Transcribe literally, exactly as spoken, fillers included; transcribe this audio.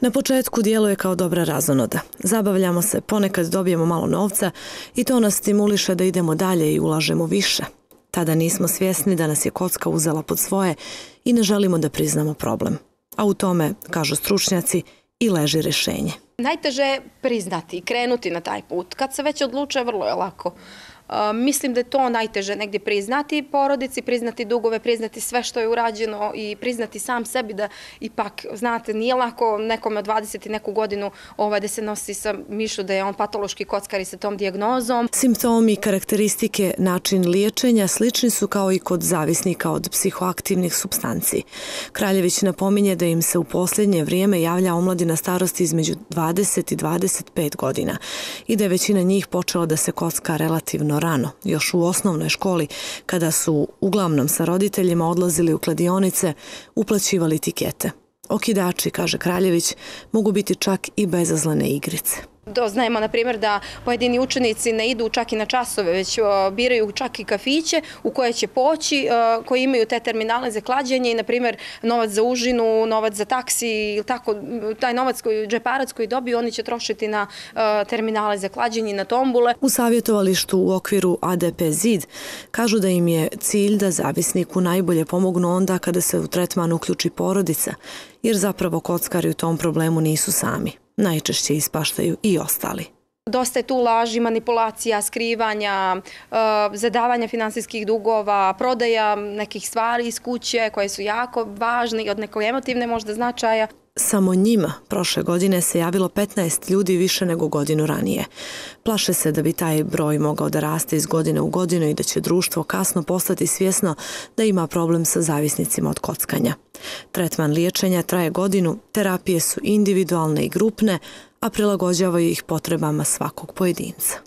Na početku djeluje kao dobra razonoda. Zabavljamo se, ponekad dobijemo malo novca i to nas stimuliše da idemo dalje i ulažemo više. Tada nismo svjesni da nas je kocka uzela pod svoje i ne želimo da priznamo problem. A u tome, kažu stručnjaci, i leži rješenje. Najteže je priznati i krenuti na taj put. Kad se već odluče, vrlo je lako. Uh, mislim da je to najteže negdje priznati porodici, priznati dugove, priznati sve što je urađeno i priznati sam sebi da ipak, znate, nije lako nekome od dvadeset i neku godinu ovaj, da se nosi sa mišlju da je on patološki kockar i sa tom dijagnozom. Simptomi, karakteristike, način liječenja slični su kao i kod zavisnika od psihoaktivnih supstanci. Kraljević napominje da im se u posljednje vrijeme javlja omladina starosti između dvadeset i dvadeset pet godina i da je većina njih počela da se kocka relativno rano, još u osnovnoj školi, kada su uglavnom sa roditeljima odlazili u kladionice, uplaćivali tikete. Okidači, kaže Kraljević, mogu biti čak i bezazlene igrice. Doznajemo, na primjer, da pojedini učenici ne idu čak i na časove, već biraju čak i kafiće u koje će poći, koji imaju te terminale za klađenje i, na primjer, novac za užinu, novac za taksi ili tako, taj novac koji džeparac koji dobiju, oni će trošiti na terminale za klađenje i na tombule. U savjetovalištu u okviru A D P Zid kažu da im je cilj da zavisniku najbolje pomognu onda kada se u tretman uključi porodica, jer zapravo kockari u tom problemu nisu sami. Najčešće ispaštaju i ostali. Dosta je tu laži, manipulacija, skrivanja, zadavanja finansijskih dugova, prodaja nekih stvari iz kuće koje su jako važne i od nekog emotivne možda značaja. Samo njima prošle godine se javilo petnaest ljudi više nego godinu ranije. Plaše se da bi taj broj mogao da raste iz godine u godinu i da će društvo kasno postati svjesno da ima problem sa zavisnicima od kockanja. Tretman liječenja traje godinu, terapije su individualne i grupne, a prilagođavaju ih potrebama svakog pojedinca.